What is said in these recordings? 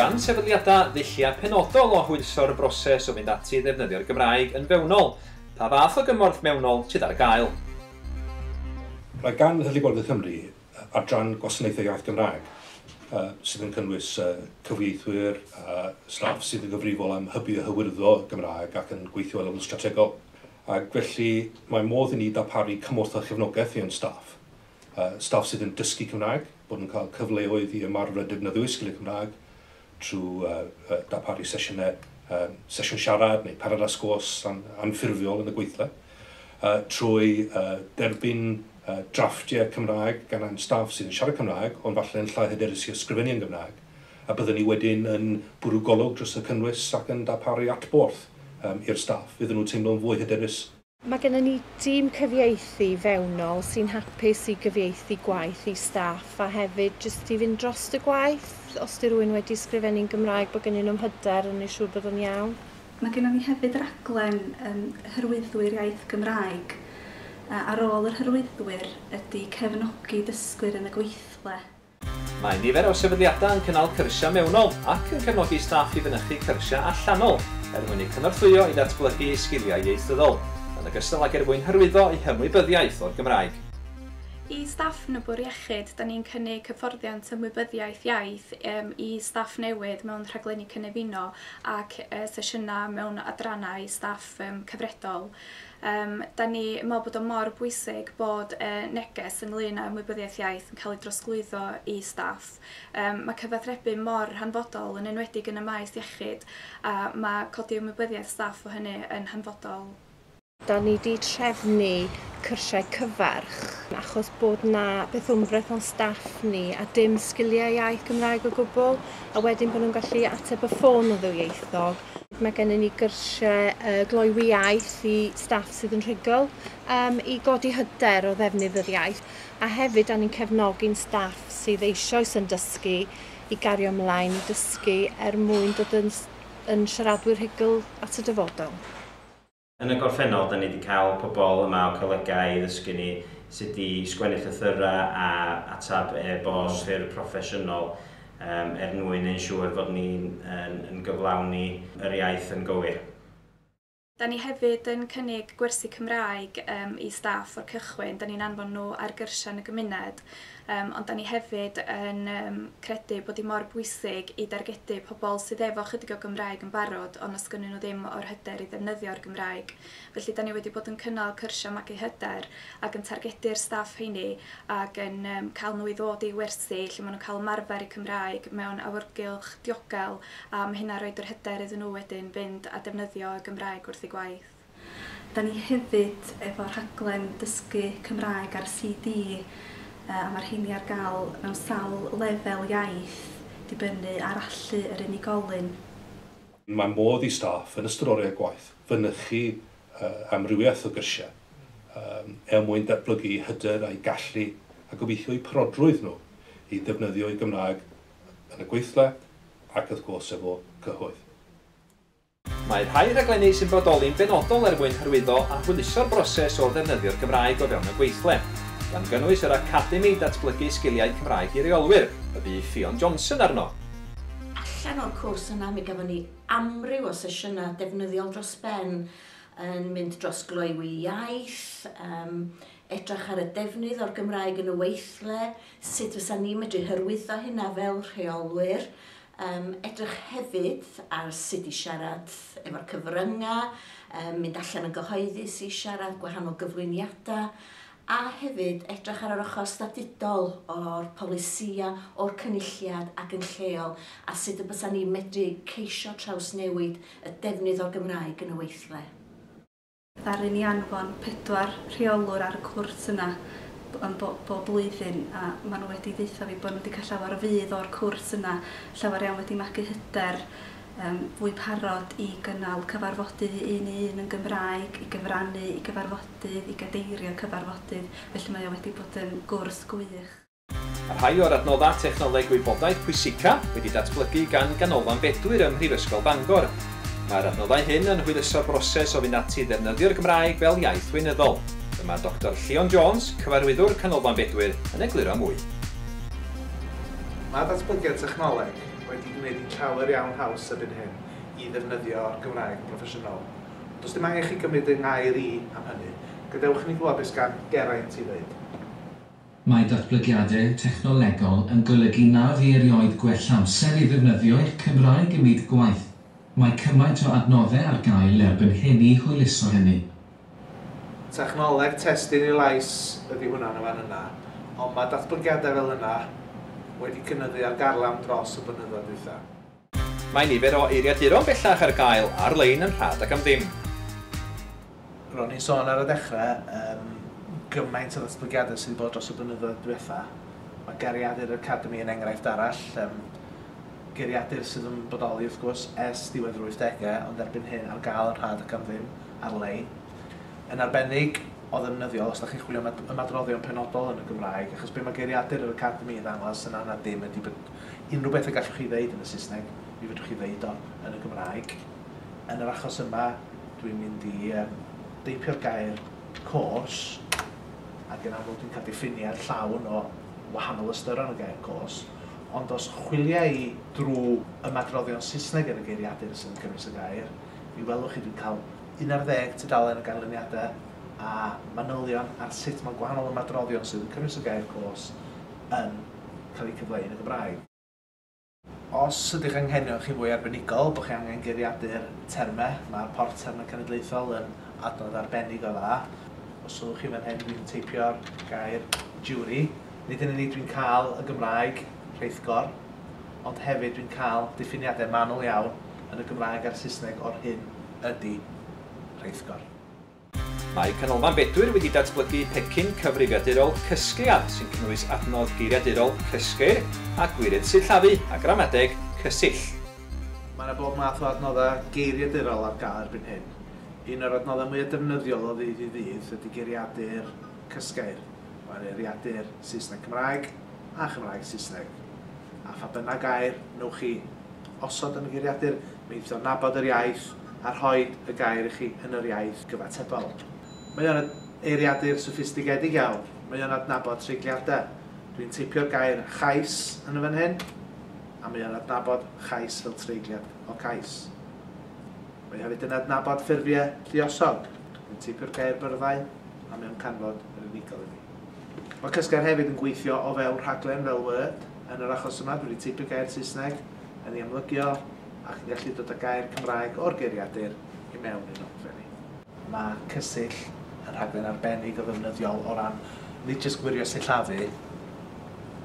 gan sefydliadau ddulliau penodol o hwyluso'r broses o fynd ati i ddefnyddio'r Gymraeg yn fewnol? Pa fath o gymorth mewnol sydd ar gael? Mae gan Heddlu Gogledd Cymru adran Gwasanaethau Iaith Gymraeg sydd yn cynnwys cyfieithwyr, staff sydd yn gyfrifol am hybu a hyrwyddo Gymraeg ac yn gweithio ar lefel strategol. Ac felly mae modd i ni darparu cymorth a chefnogaeth i'n staff. Staff sydd yn dysgu Cymraeg, bod yn cael cyfleoedd i ymarfer defnyddio sgiliau Cymraeg trwy darparu sesiynau, sesiwn siarad neu parad a sgwrs anffurfiol yn y gweithle, trwy derbyn drafftiau Cymraeg gan ein staff sydd yn siarad Cymraeg, ond falle yn llai hyderus i ysgrifennu yn Gymraeg, a byddwn ni wedyn yn bwrw golwg dros y cynnwys ac yn darparu adborth i'r staff, iddyn nhw teimlo'n fwy hyderus. Mae gennym ni dîm cyfieithu fewnol sy'n hapus i gyfieithu gwaith i staff a hefyd jyst i fynd dros y gwaith. Os di rhywun wedi ysgrifennu'n Gymraeg, bod gennyn nhw'n hyder yn ei siŵr bod o'n iawn. Mae gennym ni hefyd raglen hyrwyddwyr iaith Gymraeg. Ar ôl yr hyrwyddwyr ydy cefnogi dysgwyr yn y gweithle. Mae nifer o sefydliadau yn cynnal cyrsiau mewnol ac yn cefnogi staff i fynychu cyrsiau allanol er mwyn eu cynorthwyo i ddatblygu sgiliau ieithyddol, yn ogystal ag er mwyn hyrwyddo eu hymwybyddiaeth o'r Gymraeg. I staff yn y Bwrdd Iechyd, da ni'n cynnig hyfforddiant ymwybyddiaeth iaith i staff newydd mewn rhaglenni cynefino ac sesiynau mewn adrannau staff cyfredol. Da ni yn meddwl bod o mor bwysig bod neges ynglyn â ymwybyddiaeth iaith yn cael ei drosglwyddo i staff. Mae cyfathrebu mor hanfodol, yn enwedig yn y maes iechyd, a mae codi ymwybyddiaeth staff o hynny yn hanfodol. Da ni wedi trefnu cyrsiau cyfarch achos bod na beth wmbreth o'n staff ni a dim sgiliau iaith Gymraeg o gwbl, a wedyn bod nhw'n gallu ateb y ffôn yn ddwyieithog. Mae gennym ni gyrsiau gloywi iaith i staff sydd yn rhugl i godi hyder o ddefnydd yr iaith, a hefyd da ni'n cefnogi'n staff sydd eisoes yn dysgu i gario ymlaen i dysgu er mwyn dod yn siaradwyr rhugl at y dyfodol. Yn y gorffennol, da ni wedi cael pobl yma o colegau i ddysgu ni sut i sgwennu llythyrau a atab e-bost ffurf proffesiynol er mwyn yn siŵr fod ni'n yn gyflawni yr iaith yn gywir. Da ni hefyd yn cynnig gwersi Cymraeg i staff o'r cychwyn. Da ni'n anfon nhw ar gyrsiau yn y gymuned, ond da ni hefyd yn credu bod hi mor bwysig i dargedu pobl sydd efo chydig o Gymraeg yn barod, ond os gynnyn nhw ddim o'r hyder i ddefnyddio'r Gymraeg. Felly da ni wedi bod yn cynnal cyrsiau magu hyder ac yn targedu'r staff heini ac yn cael nhw i ddod i wersi lle maen nhw'n cael ymarfer eu Cymraeg mewn awyrgylch diogel, a mae hynna roed yr hyder iddyn nhw wedyn fynd a defnyddio y Gymraeg wrth eu gwaith. Da ni hefyd efo rhaglen dysgu Cymraeg ar CD, a mae'r rheini ar gael mewn sawl lefel iaith dibynnu ar allu yr unigolyn. Mae modd i staff yn ystod oriau gwaith fynychu amrywiaeth o gyrsiau er mwyn datblygu hyder a'i gallu a gobeithio eu parodrwydd nhw i ddefnyddio eu Gymraeg yn y gweithle ac wrth gwrs efo cyhoedd. Mae rhai rhaglenni sy'n bodoli'n benodol er mwyn hyrwyddo a hwyluso'r broses o ddefnyddio'r Gymraeg o fewn y gweithle, gan gynnwys yr Academi Datblygu Sgiliau Cymraeg i Reolwyr, y bu Ffion Johnson arno. Allan o'r cwrs yna mi gafon ni amryw o sesiynau defnyddiol dros ben yn mynd dros gloywi iaith, edrych ar y defnydd o'r Gymraeg yn y weithle, sut fysa ni'n medru hyrwyddo hynna fel rheolwyr, edrych hefyd ar sut i siarad efo'r cyfryngau, mynd allan yn gyhoeddus i siarad gwahanol gyflwyniadau, a hefyd edrych ar yr ochr statudol o'r polisïau, o'r cynulliad ac yn lleol, a sut y bysa ni'n medru ceisio trawsnewid y defnydd o'r Gymraeg yn y weithle. Ddaru ni anfon 4 rheolwr ar y cwrs yna yn bob blwyddyn, a maen nhw wedi deutha fi bod nhw wedi cael llawer o fudd o'r cwrs yna, llawer iawn wedi magu hyder, fwy parod i gynnal cyfarfodydd un i un yn Gymraeg, i gyfrannu i gyfarfodydd, i gadeirio cyfarfodydd, felly mae o wedi bod yn gwrs gwych. A rhai o'r adnoddau technoleg gwybodaeth pwysica wedi datblygu gan Ganolfan Bedwyr ym Mhrifysgol Bangor. Mae'r adnoddau hyn yn hwyluso'r broses o fynd ati i ddefnyddio'r Gymraeg fel iaith weinyddol. Dyma Dr Llion Jones, cyfarwyddwr Canolfan Bedwyr, yn egluro mwy. Mae datblygiad technoleg wedi gwneud hi'n llawer iawn haws erbyn hyn i ddefnyddio'r Gymraeg yn broffesiynol. Ond does dim angen chi gymryd yng ngair i am hynny. Gadewch i ni glywed beth gan Geraint i ddweud. Mae datblygiadau technolegol yn golygu na fu erioed gwell amser i ddefnyddio eich Cymraeg ym myd gwaith. Mae cymaint o adnoddau ar gael erbyn hyn i hwyluso hynny. Technoleg testun i lais ydy hwnna yn y fan yna, ond mae datblygiadau fel yna wedi cynyddu ar garlam dros y blynyddoedd dwytha. Mae nifer o eiriaduron bellach ar gael ar-lein yn rhad ac am ddim. Ro'n i'n sôn ar y dechrau gymaint o ddatblygiadau sydd wedi bod dros y blynyddoedd diwetha. Mae Geiriadur Academy yn enghraifft arall. Geiriadur sydd yn bodoli wrth gwrs ers diwedd yr 80au, ond erbyn hyn ar gael yn rhad ac am ddim ar-lein. Yn arbennig o ddefnyddiol os ydych chi'n chwilio am ymadroddion penodol yn y Gymraeg, achos be mae Geiriadur yr Academy yn ddangos yn anad dim ydy bod unrhyw beth y gallwch chi ddeud yn y Saesneg, mi fedrwch chi ddeud o yn y Gymraeg. Yn yr achos yma, dwi'n mynd i deipio'r gair "course", ac yn amlwg dwi'n cael diffiniad llawn o wahanol ystyron y gair "course", ond os chwilia i drwy ymadroddion Saesneg yn y geiriadur sydd yn cynnwys y gair, mi welwch chi dwi'n cael 11 tudalen o ganlyniadau a manylion ar sut mae gwahanol ymadroddion sydd yn cynnwys y gair "course" yn cael eu cyfleu yn y Gymraeg. Os ydych anghenion chi fwy arbenigol, bod chi angen geiriadur termau, mae'r Porth Termau Cenedlaethol yn adnodd arbennig o dda. Os sylwch chi fan hyn, dwi'n teipio'r gair "jury". Nid yn unig dwi'n cael y Gymraeg rheithgor, ond hefyd dwi'n cael diffiniadau manwl iawn yn y Gymraeg a'r Saesneg o'r hyn ydy rheithgor. Mae Canolfan Bedwyr wedi datblygu pecyn cyfrifiadurol Cysgliad sy'n cynnwys adnodd geiriadurol Cysgeir a gwirydd sillafu a gramadeg Cysill. Mae yna bob math o adnoddau geiriadurol ar gael erbyn hyn. Un o'r adnoddau mwyaf defnyddiol o ddydd i ddydd ydy geiriadur Cysgeir. Mae'n geiriadur Saesneg Cymraeg a Chymraeg Saesneg. A pha bynnag gair newch chi osod yn y geiriadur, mi fydd o'n nabod yr iaith a rhoi y gair i chi yn yr iaith gyfatebol. Mae o'n eiriadur soffistigedig iawn. Mae o'n adnabod treigliadau. Dwi'n teipio'r gair "chais" yn y fan hyn, a mae o'n adnabod "chais" fel treigliad o "cais". Mae hefyd yn adnabod ffurfiau lluosog. Dwi'n teipio'r gair "byrddau", a mae o'n canfod yr unigol i fi. Mae Cysgeir hefyd yn gweithio o fewn rhaglen fel Word. Yn yr achos yma, dwi wedi teipio gair Saesneg yn ei amlygio ac yn gallu dod â gair Cymraeg o'r geiriadur i mewn i'n nodfen i. Mae Cysill yn rhaglen arbennig o ddefnyddiol o ran nid jyst gwirio sillafu,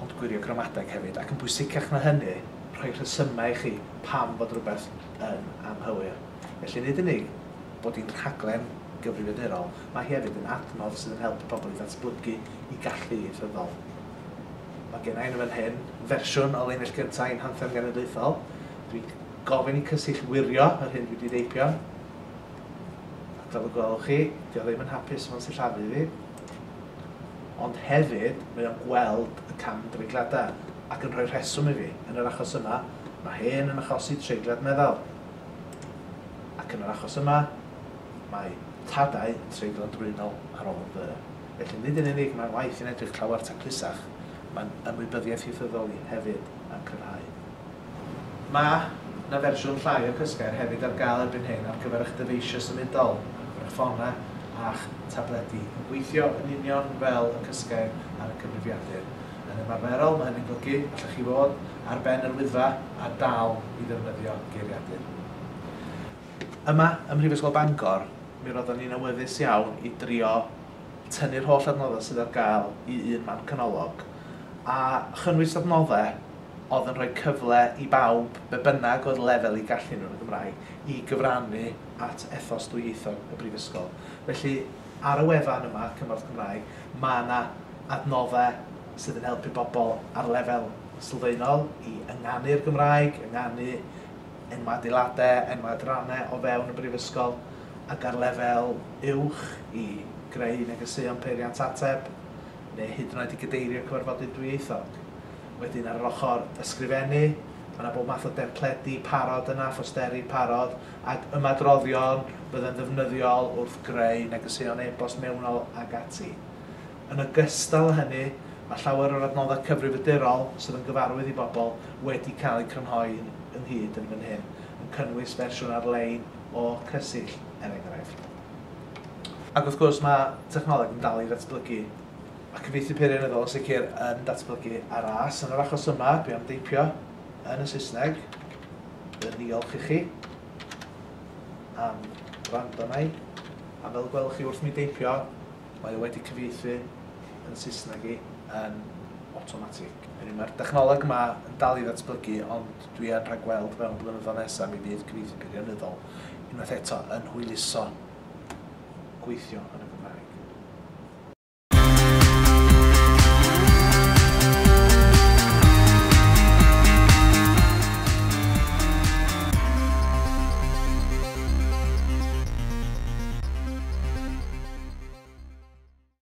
ond gwirio gramadeg hefyd, ac yn bwysicach na hynny, rhoi rhesymau i chi pam fod rhywbeth yn anghywir. Felly nid unig bod hi'n rhaglen gyfrifiadurol, mae hi hefyd yn adnodd sydd yn helpu pobl i ddatblygu i gallu ieithyddol. Mae gen i yn fan hyn fersiwn o linell gyntaf i'n hanthem genedlaethol. Dwi'n gofyn i Cysill wirio yr hyn dwi wedi deipio. Ac fel y gwelwch chi, di o ddim yn hapus efo'n sillafu fi. Ond hefyd, mae o'n gweld y cam dreigladau ac yn rhoi rheswm i fi. Yn yr achos yma, mae "hen" yn achosi treiglad meddal. Ac yn yr achos yma, mae "tadau" yn treiglo drwynol ar ôl "the". Felly nid yn unig mae'n waith yn edrych llawer taclusach, mae'n ymwybyddiaeth ieithyddol i hefyd yn cryfhau. Mae na fersiwn llai o Cysgeir hefyd ar gael erbyn hyn ar gyfer eich dyfeisiau symudol, ar gyfer eich ffonau a'ch tabledi, yn gweithio yn union fel y Cysgeir ar y cyfrifiadur. Yn ymarferol, mae hynny'n golygu allwch chi fod ar ben yr Wyddfa a dal i ddefnyddio geiriadur. Yma, ym Mhrifysgol Bangor, mi roeddwn ni'n awyddus iawn i drio tynnu'r holl adnoddau sydd ar gael i un man canolog a chynnwys adnoddau oedd yn rhoi cyfle i bawb, be bynnag oedd lefel eu gallu nhw yn y Gymraeg, i gyfrannu at ethos dwyieithog y Brifysgol. Felly, ar y wefan yma, Cymorth Cymraeg, mae yna adnoddau sydd yn helpu bobl ar lefel sylfaenol i ynganu'r Gymraeg, ynganu enwau adeiladau, enwau adrannau o fewn y Brifysgol, ac ar lefel uwch i greu negeseuon peiriant ateb, neu hyd yn oed i gadeirio cyfarfodydd dwyieithog. Wedyn ar yr ochr ysgrifennu, mae yna bob math o dempledi parod yna, phosteri parod, ac ymadroddion bydd ddefnyddiol wrth greu negeseuon e-bost mewnol ac ati. Yn ogystal â hynny, mae Mae llawer o'r adnoddau cyfrifiadurol sydd yn gyfarwydd i bobl wedi cael eu crynhoi ynghyd yn fan hyn, yn cynnwys fersiwn ar-lein o Cysill, er enghraifft. Ac wrth gwrs mae technoleg yn dal i ddatblygu. Mae cyfieithu peirianyddol yn sicr yn datblygu ar ras. Yn yr achos yma, dwi am deipio yn y Saesneg. Yn ddiolch i chi am wrando arna i. A fel gwelwch chi wrth mi deipio, mae o wedi cyfieithu yn Saesneg i yn awtomatig. Hynny, mae'r dechnoleg yma yn dal i ddatblygu, ond dwi yn rhagweld mewn blynyddoedd nesaf mi fydd cyfieithu peirianyddol unwaith eto yn hwyluso gweithio yn y